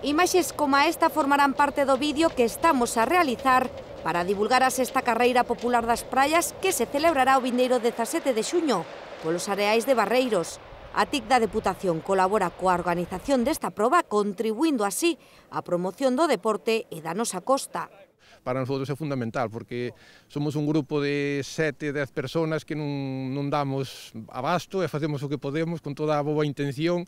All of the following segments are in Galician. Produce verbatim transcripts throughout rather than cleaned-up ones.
Imaxes como esta formarán parte do vídeo que estamos a realizar para divulgar a sexta carreira popular das praias que se celebrará o vindeiro dezasete de xuño polos areais de Barreiros. A T I C da Deputación colabora coa organización desta proba, contribuindo así á promoción do deporte e da nosa costa. Para nosotros é fundamental, porque somos un grupo de sete, dez personas que non, non damos abasto e facemos o que podemos con toda a boa intención,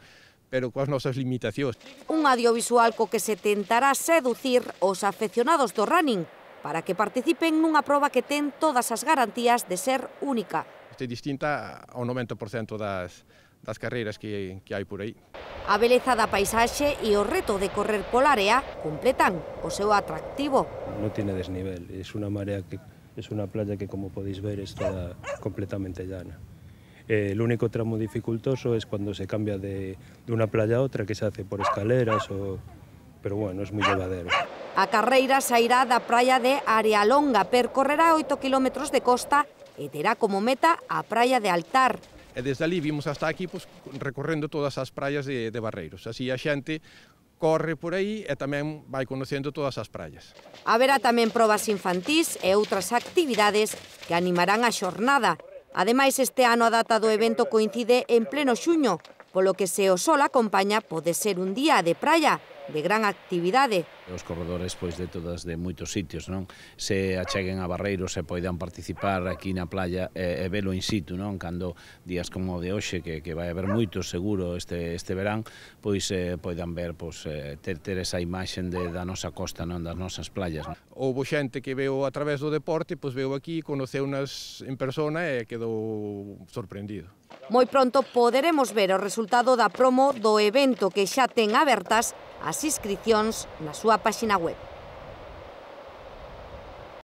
pero coas nosas limitacións. Un audiovisual co que se tentará seducir os afeccionados do running para que participen nunha proba que ten todas as garantías de ser única. Este é distinta ao noventa por cento das, das carreiras que, que hai por aí. A beleza da paisaxe e o reto de correr pola área completan o seu atractivo. No tiene desnivel, es una marea que es una playa que, como podéis ver, es toda completamente llana. Eh, el único tramo dificultoso es cuando se cambia de, de una playa a otra, que se hace por escaleras, o... pero bueno, es muy llevadero. A carreira sairá da praia de Arealonga, percorrerá oito kilómetros de costa e terá como meta a praia de Altar. E desde ali vimos hasta aquí pues, recorrendo todas as praias de, de Barreiros. Así a xente corre por aí e tamén vai conocendo todas as praias. Haberá tamén probas infantís e outras actividades que animarán a xornada. Ademais, este ano a data do evento coincide en pleno xuño, polo que se o sol acompaña pode ser un día de praia de gran actividade. Os corredores pois de todas de moitos sitios, non? Se acheguen a Barreiros e poidan participar aquí na playa e, e velo in situ, non? Cando días como o de hoxe, que, que vai haber moitos seguro este, este verán, pois eh, poidan ver, pois, eh, ter, ter esa imaxen de, da nosa costa, non? Das nosas playas. Non? Houbo xente que veo a través do deporte, pois veo aquí, conoceu-nas en persona e quedou sorprendido. Moi pronto poderemos ver o resultado da promo do evento que xa ten abertas as inscricións na súa páxina web.